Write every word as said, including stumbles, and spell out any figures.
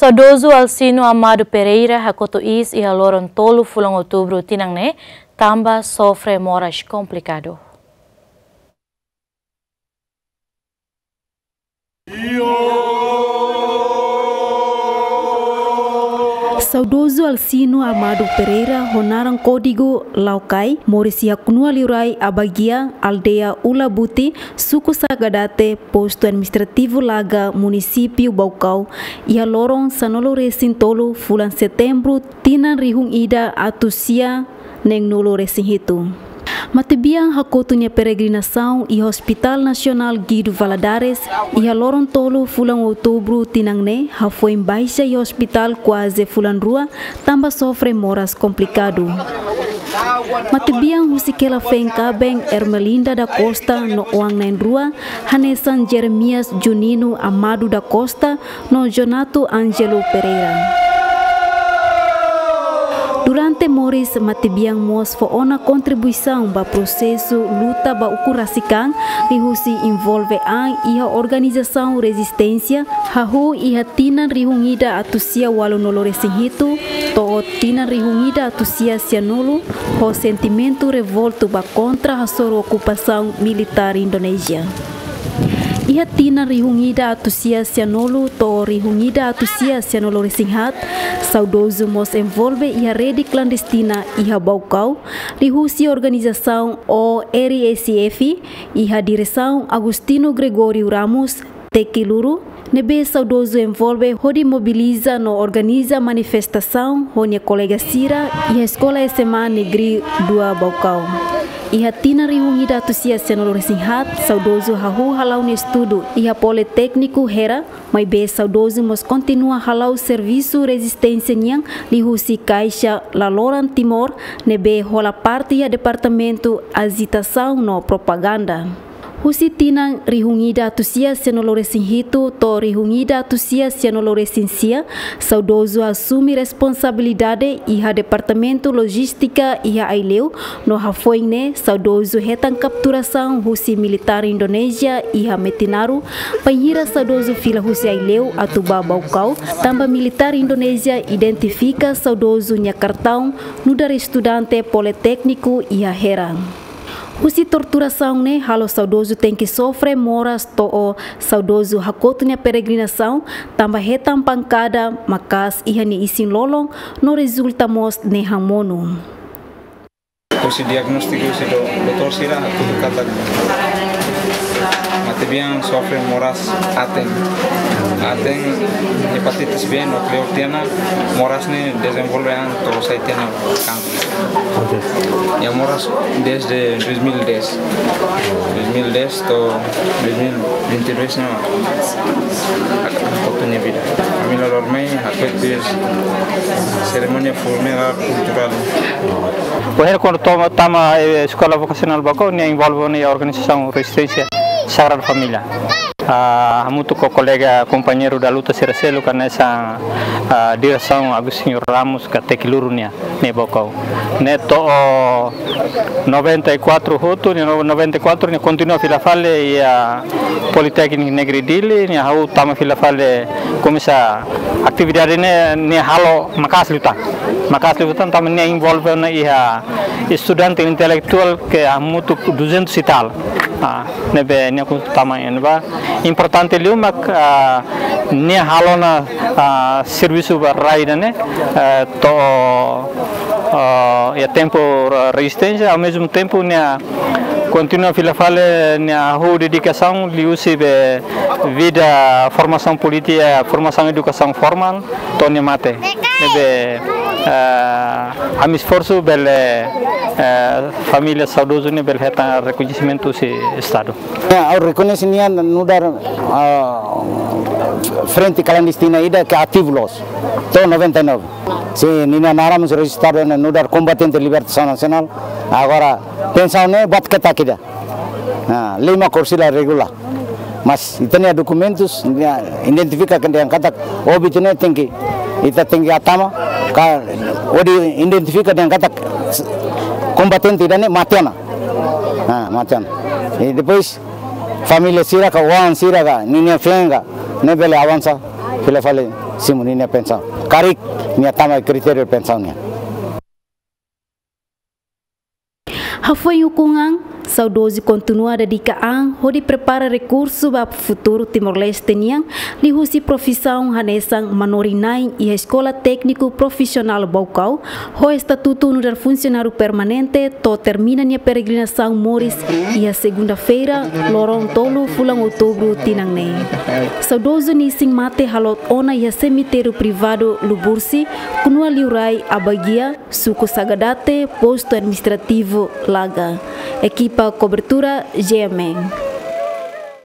Saudozu Alcino Amado Pereira hakotu iis iha loron tolu fulan Outubru tinan ne'e, tanba sofre moras komplikadu. Saudozu Alcino Amado Pereira, ho naran kódigu Laukai, moris iha Knua Liurai Abagia, aldeia Ulabuti, suku Sagadate, postu administrativu Laga, munisípiu Baucau, iha loron sanulu-resin-tolu fulan Setembru, tinan rihun ida atus sia neenulu-resin-hitu. Matebian hakotu nia peregrinasaun iha Hospital Nasionál Guido Valadares, iha loron tolu fulan Outubru tinan ne'e, hafoin baixa iha ospitál kuaze fulan rua, tanba sofre moras komplikadu. Matebian husik hela feen kaben Ermelinda da Costa no oan na'in-rua, hanesan Jeremias Junino Amado da Costa no Jonato Angelo Pereira. Durante moris, matebian mós fó ona kontribuisaun ba prosesu luta ba ukun rasik an, liuhusi envolve an iha organizasaun rezisténsia, hahú iha tinan rihun ida atus sia ualunulu-resin-hitu to'o tinan rihun ida atus sia sianulu, ho sentimentu revoltu ba kontra hasoru okupasaun militár Indonézia. Iha tinan rihun ida atus sia sianulu to'o rihun ida atus sia sianulu-resin-haat, saudozu mós envolve iha rede klandestina iha Baucau, liuhusi organizasaun O R S F, iha diresaun Agostinho Gregório Ramos, Tekiluru, ne'ebé saudozu envolve hodi mobiliza no organiza manifestasaun ho nia kolega sira iha Eskola S M A Negeri dua Baucau. Iha tinan rihun ida atus sia sianulu-resin-haat, saudozu hahú hala'o nia estudu iha Politékniku Hera, maibé saudozu mós kontinua hala'o servisu rezisténsia nian liuhusi Kaixa Laloran Timor, ne'ebé hola parte iha Departamentu Ajitasaun no Propaganda. Husi tinan rihun ida atus sia sianulu-resin-hitu to'o rihun ida atus sia sianulu-resin-sia, saudozu asume responsabilidade iha Departamentu Lojístika iha Aileu, no hafoin ne'e saudozu hetan kapturasaun husi militár Indonézia iha Metinaru, bainhira saudozu fila husi Aileu atu bá Baucau, tanba militár Indonézia identifika saudozu nia kartaun nu'udar estudante politékniku iha Hera. Husi torturasaun ne'e halo saudozu tenke sofre moras to'o saudozu hakotu nia peregrinasaun, tanba hetan pankada maka'as iha nia isin-lolon no rezulta mós nehan monu. Husi diagnóstiku husi do-, doutór sira hatudu katak matebian sofre moras aten. Aten hepatitis B no kleur tiha ona, moras ne'e dezenvolve an to'o sai tiha ona kansá. Oke. Iha moras desde dois mil e dez. Dois mil e dez to'o dois mil e vinte e dois ne'e mak hakotu nia vida. Família loromai hatudu serimónia funerál kulturál. Ohin kuandu tama, tama, eh, Eskola Vokasionál Baucau, nia envolve ona iha organizasaun rezisténsia Sagrada Família. Ah, hamutuk ho kolega kompañeiru da luta sira seluk hanesan, ah, diresaun Agostinho Ramos ka Tekiluru nia, ne'e Baucau. Ne'e to'o noventa e quatro hotu, ne'e no-, noventa e quatro nia kontinua fila fali iha Politékniku Negeri Dili, nia hahú tama fila fali komesa atividade ne'e, nia halo maka'as liután. Maka'as liután tanba nia envolve ona iha estudante intelektuál ke hamutuk duzentos e tal. Ah, ne'ebé nia kontinua tama iha ne'ebá. Importante liu mak, ah, nia halo ona, ah, servisu ba rai ida-ne'e, eh, to'o, ah, iha tempu re-, rezisténsia, ao mesmo tempo nia kontinua fila fali nia hahú dedikasaun liuhusi be vida formasaun polítika, formasaun edukasaun formál, to'o nia mate. Ne'ebé, eh, ami esforsu bele, eh, família saudozu ne'e bele hetan rekoñesimentu husi Estadu. Ya, ha'u rekoñese nia nu'udar, ah, frente klandestina ida ke ativu loos. To'o noventa e nove. Sin, ninia naran mós rejistadu nu'udar kombatente libertasaun nasionál. Agora, pensaun ne'e buat ketak ida. Ah, lei mak korsila regula. Mas ita-nia dokumentus, nia identifika ke dehan katak óbitu ne'e tenke, ita tenke hatama, ka hodi identifika dehan katak kombatente ida-ne'e mate ona. Ah, mate ona. I depois, família sira ka, oan sira ka, ninia feen ka, ne'e bele avansa fila fali Simu ninia pensaun. Karik nia tama kritériu pensaun nian. Hafoin ukun an, saudozu kontinua dedika an hodi prepara rekursu ba futuru Timor-Leste nian, liuhusi profisaun hanesan manorin-na'in iha Eskola Tékniku Profisionál Baucau, ho estatutu nu'udar funsionáriu permanente, to'o termina nia peregrinasaun moris iha segunda-feira, loron tolu fulan Outubru tinan ne'e. Saudozu nia isin-mate haloot ona iha semitériu privadu Lubursi, Kunua Liurai, Abagia, suku Sagadate, postu administrativu Laga. Ekipa kobertura G M N.